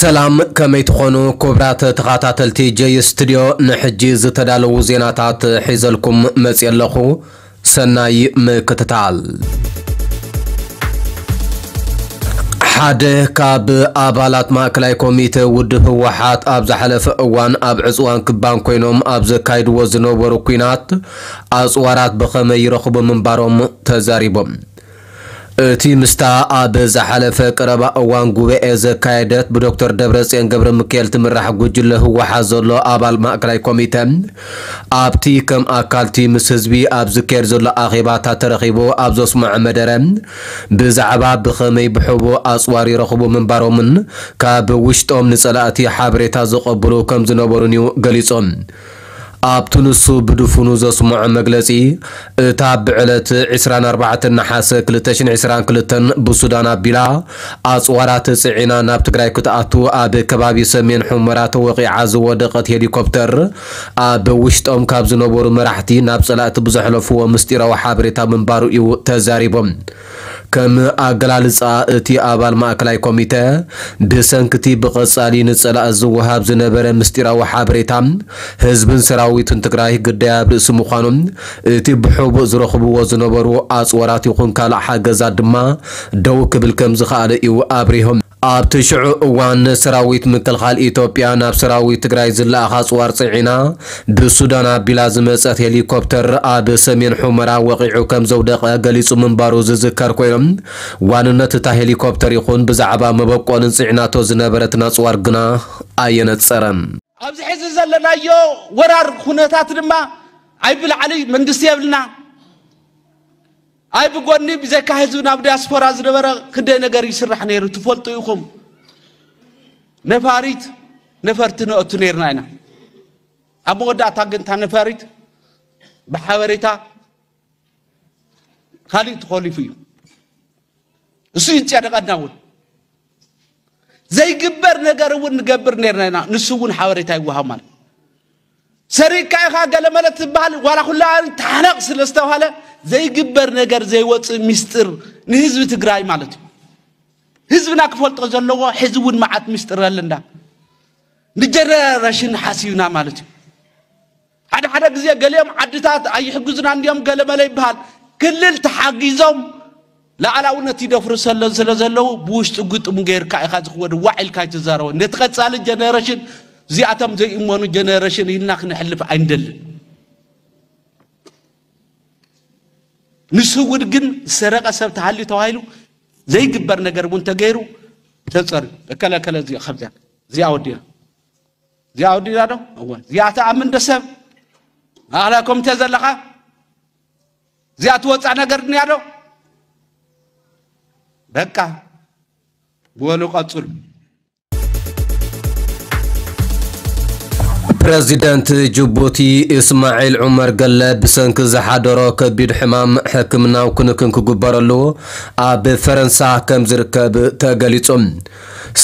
ሰላም፣ ከመይ ትኾኑ ክቡራት ተኸታተልቲ ጀይ ስቱድዮ? ንሕጂ ዝተዳለዉ ዜናታት ሒዘልኩም መፅየ ኣለኹ። ሰናይ ምክትታል። ሓደ ካብ ኣባላት ማእከላይ ኮሚተ ውድብ ህወሓት ኣብ ዝሓለፈ እዋን ኣብ ዕፅዋን ክባን ኮይኖም ኣብ ዘካይድዎ ዝነበሩ ኲናት ኣፅዋራት ብኸመይ ይረኽቡ ምንባሮም ተዛሪቦም። እቲ ምስታ ኣብ ዝሓለፈ ቀረባ እዋን ጉባኤ ዘካየደት ብዶክተር ደብረጽዮን ገብረ ሚካኤል ትምራሕ ጉጅለ ህወሓት ዘሎ ኣባል ማእከላይ ኮሚተ ኣብቲ ከም ኣካልቲ ምስ ህዝቢ ኣብ ዝካየድ ዘሎ ኣኼባታት ተረኺቡ ኣብ ዘስምዖ መደረ ብዛዕባ ብኸመይ ብሕቡእ ኣጽዋር ይረኽቡ ምንባሮምን ካብ ውሽጦም ንጸላእቲ ሓበሬታ ዘቐብሉ ከም ዝነበሩን እዩ ገሊጹ። ኣብቲ ንሱ ብድፉኑ ዘስምዖ መግለጺ፣ እታ ብዕለት ዕስራን ኣርባዕተን ነሓሰ ክልተ ሽሕን ዕስራን ክልተን ብሱዳን ኣቢላ ኣጽዋራት ጽዒና ናብ ትግራይ ክትኣቱ ኣብ ከባቢ ሰሜን ሑመራ ተወቒዓ ዝወደቐት ሄሊኮፕተር ኣብ ውሽጦም ካብ ዝነበሩ መራሕቲ ናብ ጸላእቲ ብዘሕለፍዎ ምስጢራዊ ሓበሬታ ምንባሩ እዩ ተዛሪቦም። ከም ኣገላልጻ እቲ ኣባል ማእከላይ ኮሚተ፣ ብሰንክቲ ብቐጻሊ ንጸላእ ዝወሃብ ዝነበረ ምስጢራዊ ሓበሬታ ህዝብን ሰራዊትን ትግራይ ግዳይ ኣብ ርእሲ ምዃኑ፣ እቲ ብሕቡእ ዝረኽብዎ ዝነበሩ ኣጽዋራት ይኹን ካልእ ሓገዛት ድማ ደው ክብል ከም ዝኸኣለ እዩ ኣብሪሆም። ኣብቲ ሽዑ እዋን ሰራዊት ምክልኻል ኢትዮጵያ ናብ ሰራዊት ትግራይ ዝለኣኽ ኣጽዋር ጽዒና ብሱዳን ኣቢላ ዝመጸት ሄሊኮፕተር ኣብ ሰሜን ሑመራ ወቒዑ ከም ዘውደቐ ገሊጹ ምንባሩ ዝዝከር ኮይኑ፣ ዋንነት እታ ሄሊኮፕተር ይኹን ብዛዕባ መበቆልን ጽዒናቶ ዝነበረትን ኣጽዋር ግና ኣየነጸረን። ኣብዚ ሕዚ ዘለናዮ ወራር ኩነታት ድማ ኣይ ብላዕሊ መንግስቲ የብልና፣ ኣይ ብጎኒ ብዘይካ ህዝቢ ናብ ዲያስፖራ ዝነበረ ክንደይ ነገር ይስራሕ ነይሩ ትፈልጡ ኢኹም። ነፋሪት ነፈርቲ ነእቱ ነይርና ኢና። ኣብ መወዳእታ ግን እታ ነፋሪት ብሓበሬታ ካሊእ ተኾሊፉ እዩ። እሱ ይጨነቐና እውን። ዘይግበር ነገር እውን ንገብር ነይርና ኢና። ንሱ እውን ሓበሬታ ይወሃብ ማለት። ሰሪቕካ ኢኻ ገለመለ ትበሃል፣ ዋላ ኩላ ተሓነቕ ስለ ዝተባሃለ ዘይግበር ነገር ዘይወፅእ ሚስጥር ንህዝቢ ትግራይ ማለት እዩ። ህዝብና ክፈልጦ ዘለዎ ሕዚ እውን መዓት ሚስጥር ኣለና። ንጀነሬሽን ሓሲብና ማለት እዩ። ሓደ ሓደ ግዜ ገሊኦም ዓድታት ኣይሕግዙና እንዲዮም ገለመለ ይበሃል። ክልል ተሓጊዞም ላዕላውነት ይደፍሩ ሰለን ስለ ዘለዉ ብውሽጢ ግጥሙ ገይርካ ኢኻ ዝኽወድ ዋዕ ኢልካ ኣይትዛረቦ። ነቲ ቀጻሊ ጀነሬሽን እዚኣቶም ዘይእመኑ ጀነሬሽን ኢልና ክነሕልፍ ኣይንደልን። ንስውድ ግን ዝሰረቐ ሰብ ተሃልዩ ተባሂሉ ዘይግበር ነገር እውን ተገይሩ ተጸርዩ። እከለ እከለ እዚኣ ከምዚኣ እዚኣ ወዲና እዚኣ ወዲና ዶ? እወ። እዚኣ ትኣምን ዶ ሰብ? ማእኸላይ ኮሚቴ ዘለኻ? እዚኣ ትወጻእ ነገር ድንያ ዶ? በቃ። በሉ ቀጽሉ። ፕረዚደንት ጅቡቲ እስማዒል ዑመር ገለ ብሰንኪ ዝሓደሮ ከቢድ ሕማም ሕክምናዊ ክንክን ክግበረሉ ኣብ ፈረንሳ ከም ዝርከብ ተገሊጹ።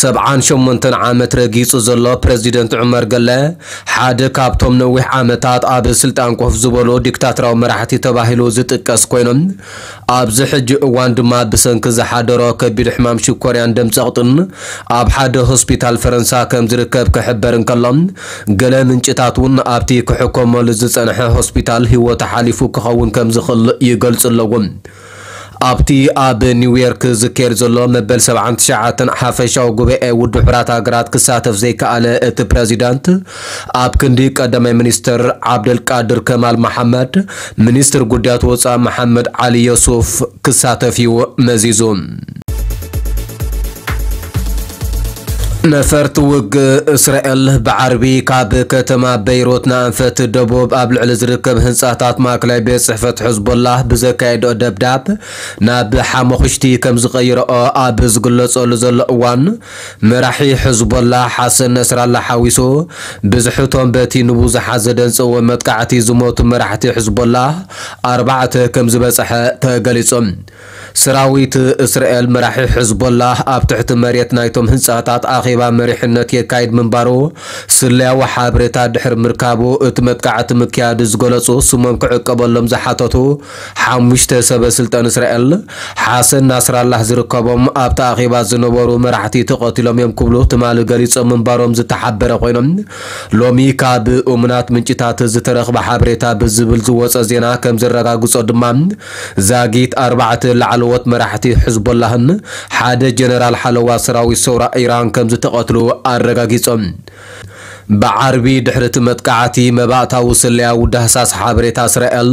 ሰብዓን ሸሞንተን ዓመት ረጊጹ ዘሎ ፕረዚደንት ዑመር ገለ ሓደ ካብቶም ነዊሕ ዓመታት ኣብ ስልጣን ኮፍ ዝበሉ ዲክታቶራዊ መራሕቲ ተባሂሉ ዝጥቀስ ኮይኑ፣ ኣብዚ ሕጂ እዋን ድማ ብሰንኪ ዝሓደሮ ከቢድ ሕማም ሽኮርያን ደም ጸቕጥን ኣብ ሓደ ሆስፒታል ፈረንሳ ከም ዝርከብ ክሕበር እንከሎ፣ ገለ ምንጭታት እውን ኣብቲ ክሕከመሉ ዝጸንሐ ሆስፒታል ህይወቱ ሓሊፉ ክኸውን ከም ዝኽእል ይገልጹ ኣለዉ። ኣብቲ ኣብ ኒውዮርክ ዝካየድ ዘሎ መበል ሰብዓን ትሽዓተን ሓፈሻዊ ጉባኤ ውድብ ሕቡራት ሃገራት ክሳተፍ ዘይከኣለ እቲ ፕረዚዳንት፣ ኣብ ክንዲ ቀዳማይ ሚኒስትር ዓብደልቃድር ከማል መሓመድ፣ ሚኒስትር ጉዳያት ወጻኢ መሓመድ ዓሊ ዮሱፍ ክሳተፍ እዩ መዚዙ። ነፈርቲ ውግእ እስራኤል ብዓርቢ ካብ ከተማ በይሩት ንኣንፈት ደቡብ ኣብ ልዕሊ ዝርከብ ህንጻታት ማእከላይ ቤት ጽሕፈት ሕዝቦላህ ብዘካየድኦ ደብዳብ ናብ ሓመኹሽቲ ከም ዝቐይረኦ ኣብ ዝግለጸሉ ዘሎ እዋን፣ መራሒ ሕዝቦላህ ሓሰን ነስራላ ሓዊሱ ብዝሕቶም በቲ ንብዙሓት ዘደንጸወ መጥቃዕቲ ዝሞቱ መራሕቲ ሕዝቦላህ ኣርባዕተ ከም ዝበጽሐ ተገሊጹ። ሰራዊት እስራኤል መራሒ ሕዝቦላህ ኣብ ትሕቲ መሬት ናይቶም ህንጻታት ኣኺ ኣኼባ መሪሕነት የካይድ ምንባሩ ስለያዊ ሓበሬታ ድሕሪ ምርካቡ፣ እቲ መጥቃዕቲ ምክያዱ ዝገለጹ ስሞም ክዕቀበሎም ዝሓተቱ ሓሙሽተ ሰበ ስልጣን እስራኤል፣ ሓሰን ናስራላህ ዝርከቦም ኣብቲ ኣኼባ ዝነበሩ መራሕቲ ተቐቲሎም እዮም ክብሉ ትማሊ ገሊጾም ምንባሮም ዝተሓበረ ኮይኖም፣ ሎሚ ካብ እሙናት ምንጭታት ዝተረኽበ ሓበሬታ ብዝብል ዝወጸ ዜና ከም ዘረጋግጾ ድማ፣ ዛጊት ኣርባዕተ ላዕለዎት መራሕቲ ሕዝቦላህን ሓደ ጀነራል ሓለዋ ሰራዊት ሰውራ ኢራን ከም ዝተቐትሉ ኣረጋጊጾም። ብዓርቢ ድሕሪ እቲ መጥቃዕቲ መባእታዊ ስለያዊ ዳህሳስ ሓበሬታ እስራኤል፣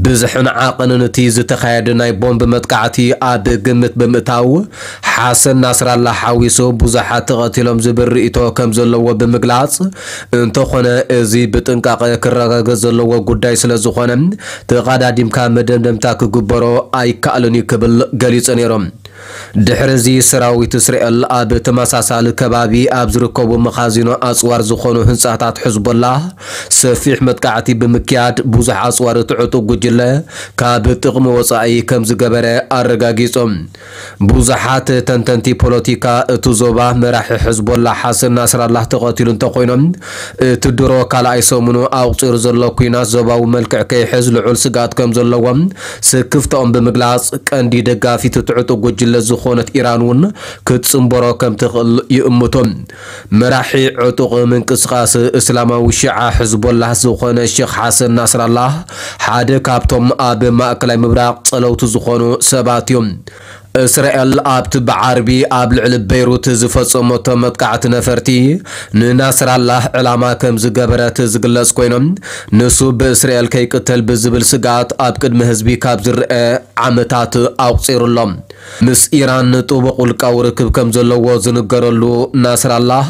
ብዝሕን ዓቐንን እቲ ዝተኻየደ ናይ ቦምብ መጥቃዕቲ ኣብ ግምት ብምእታው፣ ሓሰን ናስራላ ሓዊሱ ብዙሓት ተቐቲሎም ዝብል ርእይቶ ከም ዘለዎ ብምግላጽ፣ እንተኾነ እዚ ብጥንቃቐ ክረጋገጽ ዘለዎ ጉዳይ ስለ ዝኾነ፣ ተቐዳዲምካ መደምደምታ ክግበሮ ኣይከኣልን እዩ ክብል ገሊጹ ነይሮም። ድሕሪ እዚ ሰራዊት እስራኤል ኣብ ተመሳሳሊ ከባቢ ኣብ ዝርከቡ መኻዚኖ ኣጽዋር ዝኾኑ ህንጻታት ሕዝቦላህ ሰፊሕ መጥቃዕቲ ብምክያድ ብዙሕ ኣጽዋር እቲ ዕጡቕ ጉጅለ ካብ ጥቕሚ ወጻኢ ከም ዝገበረ ኣረጋጊጾም። ብዙሓት ተንተንቲ ፖለቲካ እቲ ዞባ መራሒ ሕዝቦላህ ሓሰን ናስራላህ ተቐቲሉ እንተኾይኖም፣ እቲ ድሮ ካልኣይ ሰሙኑ ኣቑጺሩ ዘሎ ኲናት ዞባዊ መልክዕ ከይሕዝ ልዑል ስግኣት ከም ዘለዎም ስክፍታኦም ብምግላጽ፣ ቀንዲ ደጋፊት እቲ ዕጡቕ ጉጅለ ዝኾነት ኢራን እውን ክትጽንበሮ ከም ትኽእል ይእምቱ። መራሒ ዕጡቕ ምንቅስቓስ እስላማዊ ሺዓ ሕዝቦላህ ዝኾነ ሼኽ ሓሰን ናስራላህ ሓደ ካብቶም ኣብ ማእከላይ ምብራቕ ጸለውቲ ዝኾኑ ሰባት እዮም። እስራኤል ኣብቲ ብዓርቢ ኣብ ልዕሊ ቤይሩት ዝፈጸመቶ መጥቃዕቲ ነፈርቲ ንናስራላህ ዕላማ ከም ዝገበረት ዝግለጽ ኮይኖም፣ ንሱ ብእስራኤል ከይቅተል ብዝብል ስግኣት ኣብ ቅድሚ ህዝቢ ካብ ዝረአ ዓመታት ኣቑጺሩ ኣሎ። ምስ ኢራን ጥቡቕ ውልቃዊ ርክብ ከም ዘለዎ ዝንገረሉ ናስራላህ፣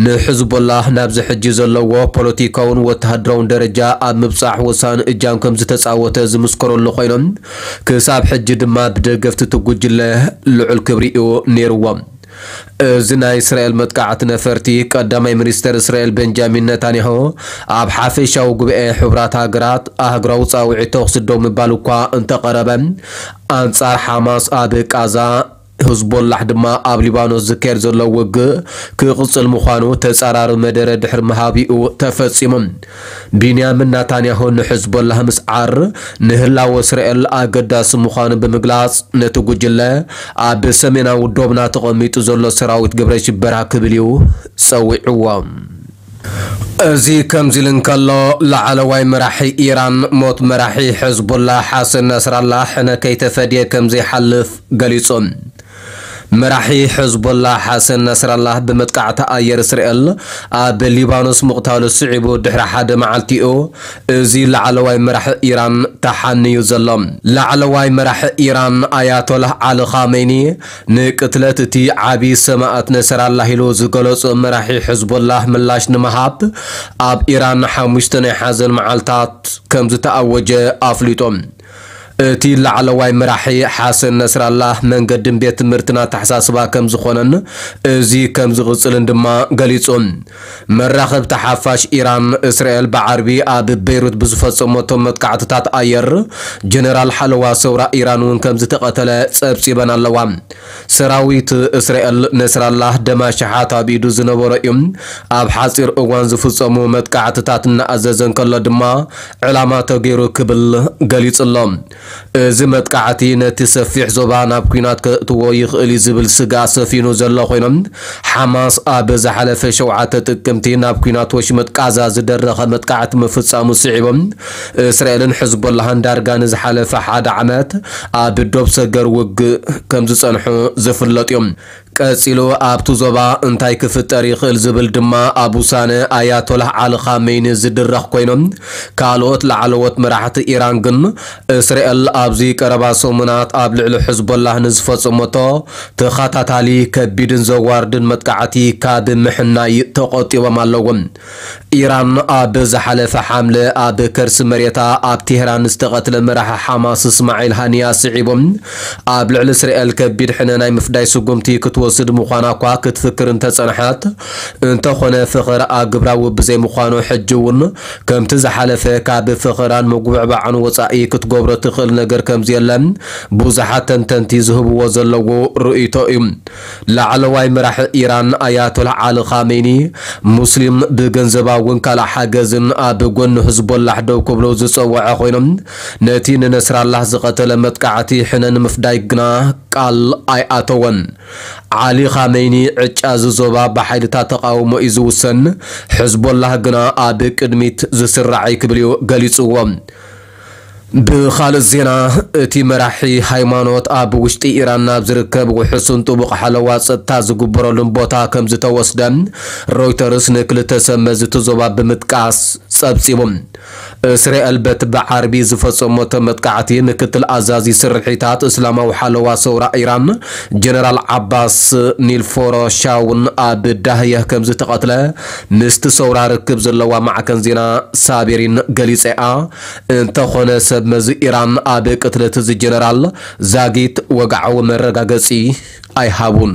ንሕዝቦላህ ናብዚ ሕጂ ዘለዎ ፖለቲካውን ወተሃደራውን ደረጃ ኣብ ምብጻሕ ወሳኒ እጃም ከም ዝተጻወተ ዝምስከረሉ ኮይኖም፣ ክሳብ ሕጂ ድማ ብደገፍቲ እቲ ጉጅለ ልዑል ክብሪ እዩ ነይርዎ። እዚ ናይ እስራኤል መጥቃዕቲ ነፈርቲ፣ ቀዳማይ ሚኒስተር እስራኤል ቤንጃሚን ነታንያሁ ኣብ ሓፈሻዊ ጉባኤ ሕቡራት ሃገራት ኣህጉራዊ ጻውዒት ተኹሲ ደው ምባል እኳ እንተቐረበ፣ ኣንጻር ሓማስ ኣብ ቃዛ፣ ህዝቦላሕ ድማ ኣብ ሊባኖስ ዝካየድ ዘሎ ውግእ ክቕጽል ምዃኑ ተጻራሪ መደረ ድሕሪ ምሃቢኡ ተፈጺሙ። ቢንያምን ናታንያሁ ንሕዝቦላህ ምስዓር ንህላወ እስራኤል ኣገዳሲ ምዃኑ ብምግላጽ፣ ነቲ ጉጅለ ኣብ ሰሜናዊ ዶብና ተቐሚጡ ዘሎ ሰራዊት ግብረ ሽበራ ክብል እዩ ጸዊዕዎ። እዚ ከምዚ ኢሉ እንከሎ፣ ላዕለዋይ መራሒ ኢራን ሞት መራሒ ሕዝቦላ ሓሰን ነስራላ ሕነ ከይተፈድየ ከም ዘይሓልፍ ገሊጹ። መራሒ ሕዝቦላ ሓሰን ነስራላ ብመጥቃዕቲ ኣየር እስራኤል ኣብ ሊባኖስ ምቕታሉ ስዒቡ ድሕሪ ሓደ መዓልቲኡ፣ እዚ ላዕለዋይ መራሒ ኢራን ተሓንዩ ዘሎ። ላዕለዋይ መራሒ ኢራን ኣያቶላህ ዓሊ ኻሜኒ ንቅትለት እቲ ዓቢ ሰማእት ነሰራላህ ኢሉ ዝገለጾ መራሒ ሕዝቦላህ ምላሽ ንምሃብ፣ ኣብ ኢራን ሓሙሽተ ናይ ሓዘን መዓልታት ከም ዝተኣወጀ ኣፍሊጡ። እቲ ላዕለዋይ መራሒ ሓሰን ነስራላህ መንገድን ቤት ትምህርትን ኣተሓሳስባ ከም ዝኾነን እዚ ከም ዝቕጽልን ድማ ገሊጹ። መራኸብቲ ሓፋሽ ኢራን፣ እስራኤል ብዓርቢ ኣብ ቤይሩት ብዝፈጸመቶ መጥቃዕትታት ኣየር፣ ጀነራል ሓለዋ ሰውራ ኢራን እውን ከም ዝተቐተለ ጸብጺበን ኣለዋ። ሰራዊት እስራኤል ነስራላህ ደም ኣሽሓት ኣብ ኢዱ ዝነበሮ እዩ። ኣብ ሓጺር እዋን ዝፍጸሙ መጥቃዕትታት እናኣዘዘ እንከሎ ድማ ዕላማ ተገይሩ ክብል ገሊጹ ኣሎ። እዚ መጥቃዕቲ ነቲ ሰፊሕ ዞባ ናብ ኲናት ከእትዎ ይኽእል እዩ ዝብል ስግኣት ሰፊኑ ዘሎ ኮይኖም፣ ሓማስ ኣብ ዝሓለፈ ሸውዓተ ጥቅምቲ ናብ ኲናት ወሽመጥ ቃዛ ዝደረኸ መጥቃዕቲ ምፍጻሙ ስዒቦም፣ እስራኤልን ሕዝቦላህን ዳርጋ ንዝሓለፈ ሓደ ዓመት ኣብ ዶብ ሰገር ውግእ ከም ዝጸንሑ ዝፍለጥ እዮም። ቀጺሉ ኣብቲ ዞባ እንታይ ክፍጠር ይኽእል ዝብል ድማ ኣብ ውሳነ ኣያቶላህ ዓሊ ኻሜኒ ዝድረኽ ኮይኖም፣ ካልኦት ላዕለዎት መራሕቲ ኢራን ግን እስራኤል ኣብዚ ቀረባ ሰሙናት ኣብ ልዕሊ ሕዝቦላህ ንዝፈጸመቶ ተኸታታሊ ከቢድን ዘዋርድን መጥቃዕቲ ካብ ምሕናይ ተቖጢቦም ኣለዉ። ኢራን ኣብ ዝሓለፈ ሓምለ ኣብ ከርሲ መሬታ ኣብ ቴህራን ዝተቐትለ መራሒ ሓማስ እስማዒል ሃኒያ ስዒቡ ኣብ ልዕሊ እስራኤል ከቢድ ሕነ ናይ ምፍዳይ ስጉምቲ ክትወስድ ምዃና እኳ ክትፍክር እንተጸንሐት፣ እንተኾነ ፍኸረኣ ግብራዊ ብዘይምዃኑ ሕጂ እውን ከምቲ ዝሓለፈ ካብ ፍኸራን ምጉብዕባዕን ወጻኢ ክትገብሮ ትኽእል ነገር ከምዘየለ ብዙሓት ተንተንቲ ዝህብዎ ዘለዉ ርእይቶ እዩ። ላዕለዋይ መራሒ ኢራን ኣያቶላህ ዓሊ ኻሜኒ፣ ሙስሊም ብገንዘባውን ካልእ ሓገዝን ኣብ ጎኒ ህዝቦላህ ደው ክብሉ ዝጸወዐ ኮይኖም፣ ነቲ ንነስራላህ ዝቐተለ መጥቃዕቲ ሕነ ንምፍዳይ ግና ቃል ኣይኣተወን። ዓሊ ኻሜኒ፣ ዕጫ እዚ ዞባ ብሓይልታት ተቓውሞ እዩ ዝውሰን፣ ሕዝቦላህ ግና ኣብ ቅድሚት ዝስራዕ እዩ ክብል እዩ ገሊጽዎ። ብኻልእ ዜና፣ እቲ መራሒ ሃይማኖት ኣብ ውሽጢ ኢራን ናብ ዝርከብ ውሑስን ጥቡቕ ሓለዋ ጸጥታ ዝግበረሉን ቦታ ከም ዝተወስደ ሮይተርስ ንክልተ ሰብ መዚ እቲ ዞባ ብምጥቃስ ጸብጺቡ። እስራኤል በቲ ብዓርቢ ዝፈጸመቶ መጥቃዕቲ፣ ምክትል ኣዛዚ ስርሒታት እስላማዊ ሓለዋ ሰውራ ኢራን ጀነራል ዓባስ ኒልፎሮሻውን ኣብ ዳህየህ ከም ዝተቐትለ ምስቲ ሰውራ ርክብ ዘለዋ ማዕከን ዜና ሳቤሪን ገሊጸኣ። እንተኾነ ሰብ መዚ ኢራን ኣብ ቅትለት እዚ ጀነራል ዛጊት ወግዓዊ መረጋገጺ ኣይሃቡን።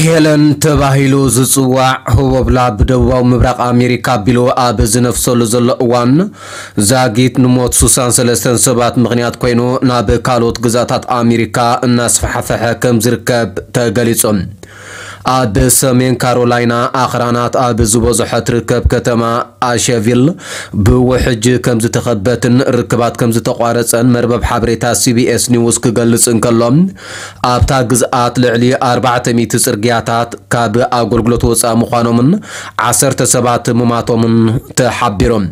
ሄለን ተባሂሉ ዝጽዋዕ ህቦብላ ብደቡባዊ ምብራቕ ኣሜሪካ ኣቢሉ ኣብ ዝነፍሰሉ ዘሎ እዋን ዛጊት ንሞት ሱሳን ሰለስተን ሰባት ምኽንያት ኮይኑ ናብ ካልኦት ግዛታት ኣሜሪካ እናስፋሕፈሐ ከም ዝርከብ ተገሊጹ። ኣብ ሰሜን ካሮላይና ኣኽራናት ኣብ ዝበዝሖ ትርከብ ከተማ ኣሸቪል ብውሕጅ ከም ዝተኸበትን ርክባት ከም ዝተቋረጸን መርበብ ሓበሬታ ሲቢኤስ ኒውስ ክገልጽ እንከሎ፣ ኣብታ ግዝኣት ልዕሊ ኣርባዕተ ሚእቲ ጽርግያታት ካብ ኣገልግሎት ወጻኢ ምዃኖምን ዓሰርተ ሰባት ምማቶምን ተሓቢሮም።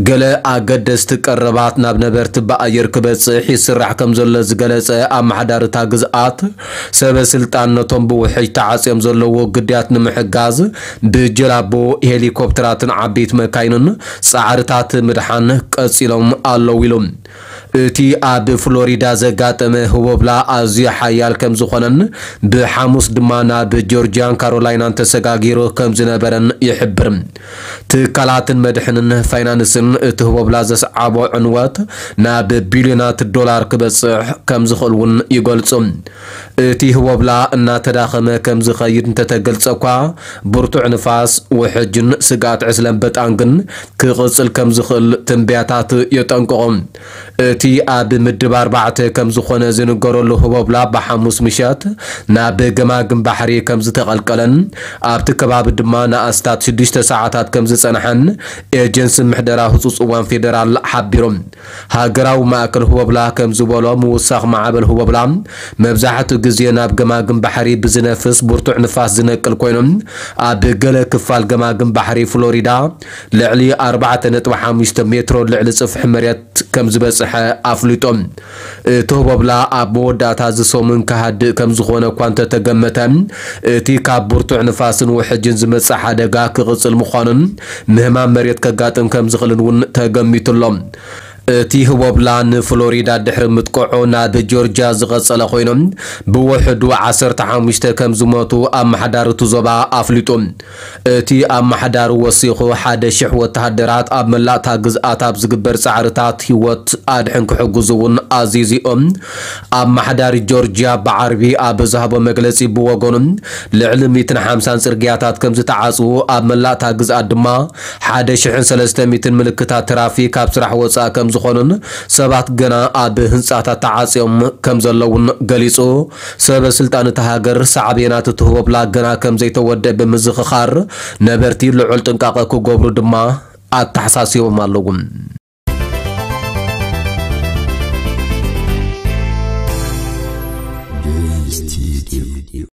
ገለ ኣገደስቲ ቀረባት ናብ ነበርቲ ብኣየር ክበጽሕ ይስራሕ ከም ዘሎ ዝገለጸ ኣመሓዳሪ እታ ግዝኣት፣ ሰበ ስልጣን ነቶም ብውሕጅ ተዓጽዮም ዘለዉ ግዳያት ንምሕጋዝ ብጀላቦ፣ ሄሊኮፕተራትን ዓበይቲ መካይንን ጻዕርታት ምድሓን ቀጺሎም ኣለዉ ኢሉ። እቲ ኣብ ፍሎሪዳ ዘጋጠመ ህቦብላ ኣዝዩ ሓያል ከም ዝኾነን ብሓሙስ ድማ ናብ ጆርጂያን ካሮላይናን ተሰጋጊሩ ከም ዝነበረን ይሕብር። ትካላትን መድሕንን ፋይናንስን እቲ ህቦብላ ዘስዓቦ ዕንወት ናብ ቢልዮናት ዶላር ክበጽሕ ከም ዝኽእል እውን ይገልጹ። እቲ ህቦብላ እናተዳኸመ ከም ዝኸይድ እንተተገልጸ እኳ፣ ብርቱዕ ንፋስ፣ ውሕጅን ስግኣት ዕስለ ኣንበጣን ግን ክቕጽል ከም ዝኽእል ትንበያታት የጠንቅቑ። እቲ ኣብ ምድብ ኣርባዕተ ከም ዝኾነ ዝንገረሉ ህቦብላ ብሓሙስ ምሸት ናብ ገማግም ባሕሪ ከም ዝተቐልቀለን ኣብቲ ከባቢ ድማ ንኣስታት ሽዱሽተ ሰዓታት ከም ዝጸንሐን ኤጀንሲ ምሕደራ ህጹጽ እዋን ፌደራል ሓቢሩ። ሃገራዊ ማእከል ህቦብላ ከም ዝበሎ፣ ምውሳኽ ማዕበል ህቦብላ መብዛሕትኡ ግዜ ናብ ገማግም ባሕሪ ብዝነፍስ ብርቱዕ ንፋስ ዝነቅል ኮይኑ፣ ኣብ ገለ ክፋል ገማግም ባሕሪ ፍሎሪዳ ልዕሊ ኣርባዕተ ነጥቢ ሓሙሽተ ሜትሮ ልዕሊ ጽፍሒ መሬት ከም ዝበጽሐ ኣፍሊጡ። እቲ ህቦብላ ኣብ መወዳእታ እዚ ሰሙን ክሃድእ ከም ዝኾነ እኳ እንተተገመተ፣ እቲ ካብ ብርቱዕ ንፋስን ውሕጅን ዝመጽእ ሓደጋ ክቕጽል ምዃኑን ምህማም መሬት ከጋጥም ከም ዝኽእልን እውን ተገሚቱ ኣሎ። እቲ ህቦብላ ንፍሎሪዳ ድሕሪ ምጥቅዑ ናብ ጆርጅያ ዝቐጸለ ኮይኑ፣ ብውሕዱ ዓሰርተ ሓሙሽተ ከም ዝሞቱ ኣመሓዳሪ እቲ ዞባ ኣፍሊጡ። እቲ ኣመሓዳሪ ወሲኹ፣ ሓደ ሽሕ ወተሃደራት ኣብ መላእታ ግዝኣት ኣብ ዝግበር ጻዕርታት ህይወት ኣድሕን ክሕግዙ እውን ኣዚዙ። ኣመሓዳሪ ጆርጅያ ብዓርቢ ኣብ ዝሃቦ መግለጺ ብወገኑ፣ ልዕሊ ሚእትን ሓምሳን ጽርግያታት ከም ዝተዓጽዉ፣ ኣብ መላእታ ግዝኣት ድማ ሓደ ሽሕን ሰለስተ ሚእትን ምልክታት ትራፊክ ኣብ ስራሕ ወጻኢ ከም ዝኾኑን ሰባት ገና ኣብ ህንጻታት ተዓጽዮም ከም ዘለውን ገሊጹ። ሰበ ስልጣን እታ ሃገር ሳዕቤናት እቲ ህቦብላ ገና ከም ዘይተወደአ ብምዝኽኻር፣ ነበርቲ ልዑል ጥንቃቐ ክገብሩ ድማ ኣተሓሳሲቦም ኣለዉ።